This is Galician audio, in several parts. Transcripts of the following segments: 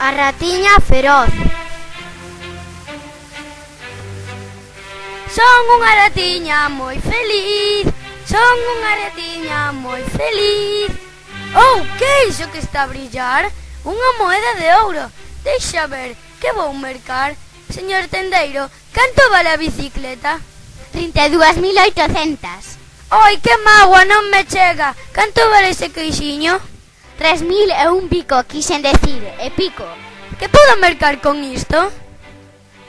A ratiña feroz. Son unha ratiña moi feliz. Son unha ratiña moi feliz. Oh, que é iso que está a brillar? Unha moeda de ouro. Deixa ver, que vou mercar. Señor tendeiro, canto vale a bicicleta? 32.800. Oi, que mágoa, non me chega. Canto vale ese queixiño? 3.001 pico, quixen decir, e pico. Que podo mercar con isto?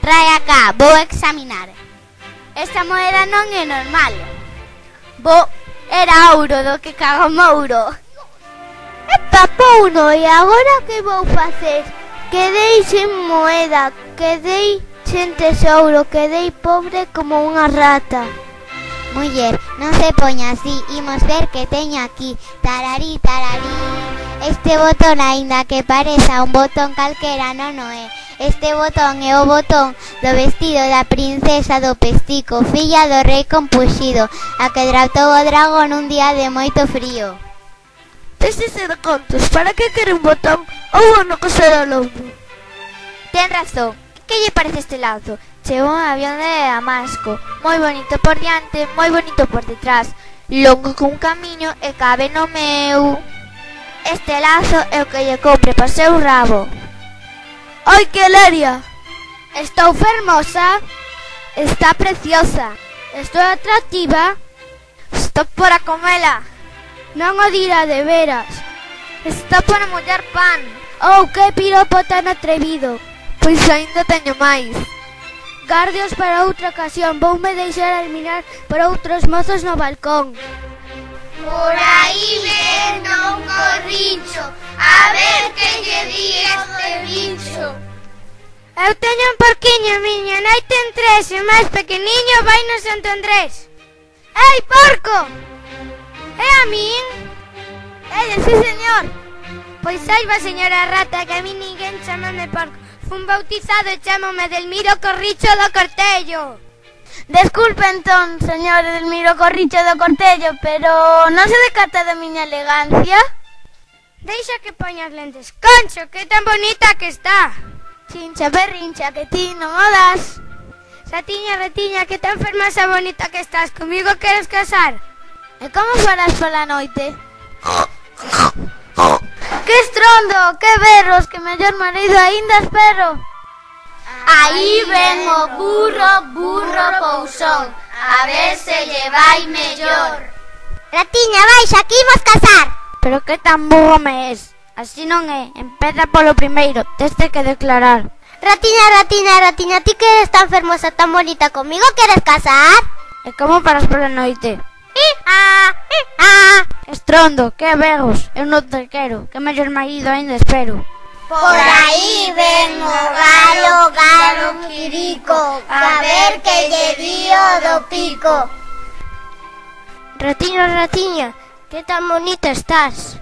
Trae acá, vou examinar. Esta moeda non é normal. Era ouro do que cago mouro. Epa, Pauno, e agora que vou facer? Quedei sen moeda, quedei sen tesouro, quedei pobre como unha rata. Muller, non se poña así, imos ver que teño aquí. Tararí, tararí. Este botón, aínda que pareza un botón calquera, non o é. Este botón é o botón do vestido da princesa do Pestico, filla do rei Compuxido, a que raptou o dragón un día de moito frío. Déxese de contos, para que quere un botón ou non coser ao lombo? Ten razón, que lle parece este lazo? Chegou un avión de Damasco, moi bonito por diante, moi bonito por detrás, longo cun camiño e cabe no meu. Este lazo é o que lle compre para seu rabo. Ai, que leria! Estou fermosa, está preciosa, estou atractiva, estou para comela. Non o dirá de veras, está para mollar pan. Oh, que piropo tan atrevido. Pois aínda teño máis. Gardios para outra ocasión, voume deixar eliminar por outros mozos no balcón. Por aí ven un corrincho, a ver que lle di este bicho. Eu teño un porquiño, miña nai ten 3 e o máis pequeniño vai no Santo Andrés. Ei, porco! É a min? Sí, señor. Pois saiba, señora rata, que a mí ninguén chamame porco. Fun bautizado e chamome Delmiro Corricho do Cortello. Desculpe entón, señor Delmiro Corricho do Cortello, pero non se decata da miña elegancia? Deixa que poñas lentes. Concho, que tan bonita que está. Chincha berrincha, que ti non o das. Ratiña, ratiña, que tan fermosa bonita que estás. Comigo queres casar? E como farás pola noite? Que estrondo, que berros, que mellor marido aínda espero. Aí ven o burro, burro pousón, a ver se lle vai mellor. Ratiña, baixa, aquí imos casar. Pero que tan burro me es. Así non é, empeza polo primeiro, teste que declarar. Ratiña, ratiña, ratiña, ti que eres tan fermosa, tan bonita, comigo queres casar? E como paras pola noite? Estrondo, que berros, eu non te quero, que mellor marido aínda espero. Por aí ven o galo, galo quirico, a ver que lle dio do pico. Ratiña, ratiña, que tan bonita estás.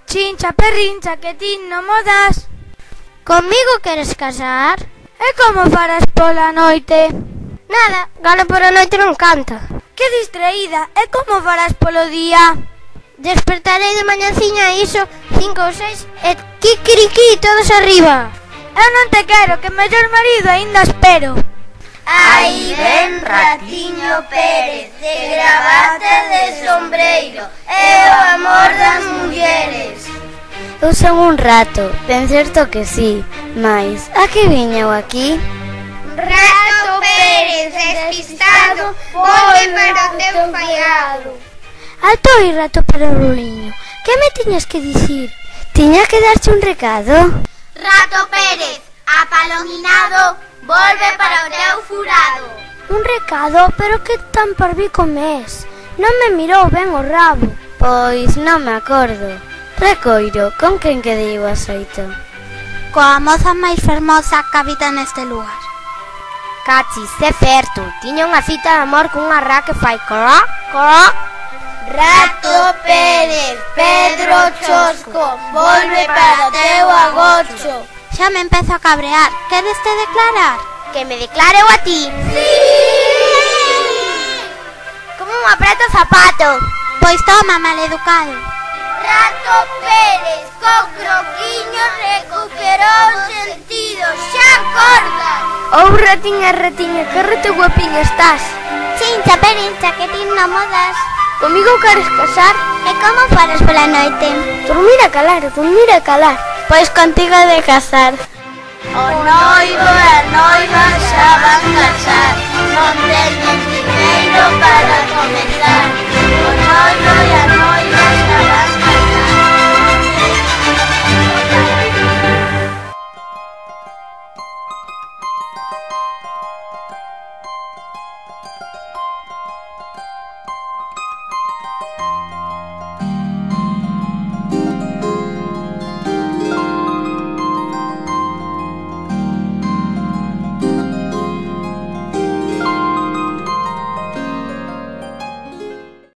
Chincha, perrincha, que ti non mo das. Comigo queres casar? E como farás pola noite? Nada, galo pola noite non canta. Que distraída, e como farás polo día? Despertarei de mañanciña iso 5 ou 6 e kikiriki todos arriba. Eu non te quero, que mellor marido aínda espero. Aí ven Ratiño Pérez, de gravata de sombreiro, é o amor das mulleres. Eu son un rato, ben certo que sí, mais a que viña eu aquí? Rato Pérez, despistado, volve para o teu faiado. Alto aí, rato para o ruliño, que me tiñas que dicir? Tiña que darche un recado? Rato Pérez, apalominado, volve para o teu furado. Un recado? Pero que tan parvico me es? Non me mirou ben o rabo. Pois non me acordo. Recoiro, con quen quedei o axoito? Coa moza máis fermosa que habita neste lugar. Cachis, é certo, tiña unha cita de amor cunha ra que fai corá, corá. Rato Pérez, Pedro Chosco, volve para o teu agocho. Xa me empezo a cabrear. Queres te declarar? Que me declareu a ti. Sí! Como un apreto zapato. Pois toma, maleducado. Rato Pérez, co croquiño recuperouse ratiña, ratiña, que rete guapiña estás. Chincha, perincha, que ti non modas. Comigo queres casar? E como faras pola noite? Dormir a calar, dormir a calar. Pois contigo de casar. O noivo e a noiva xa van casar, non teñen dineiro para comezar. O noivo e a noiva